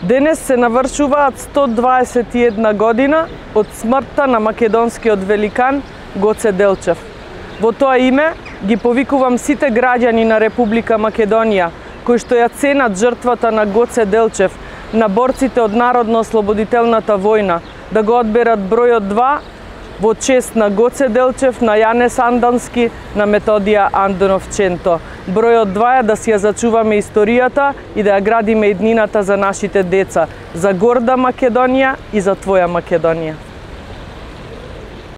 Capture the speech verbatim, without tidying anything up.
Денес се навршуваат сто дваесет и една година од смртта на македонскиот великан Гоце Делчев. Во тоа име ги повикувам сите граѓани на Република Македонија кои што ја ценат жртвата на Гоце Делчев, на борците од Народно-ослободителната војна, да го одберат бројот два во чест на Гоце Делчев, на Јанес Андански, на Методија Андоновченто. Бројот два е да си ја зачуваме историјата и да ја градиме иднината за нашите деца, за горда Македонија и за твоја Македонија.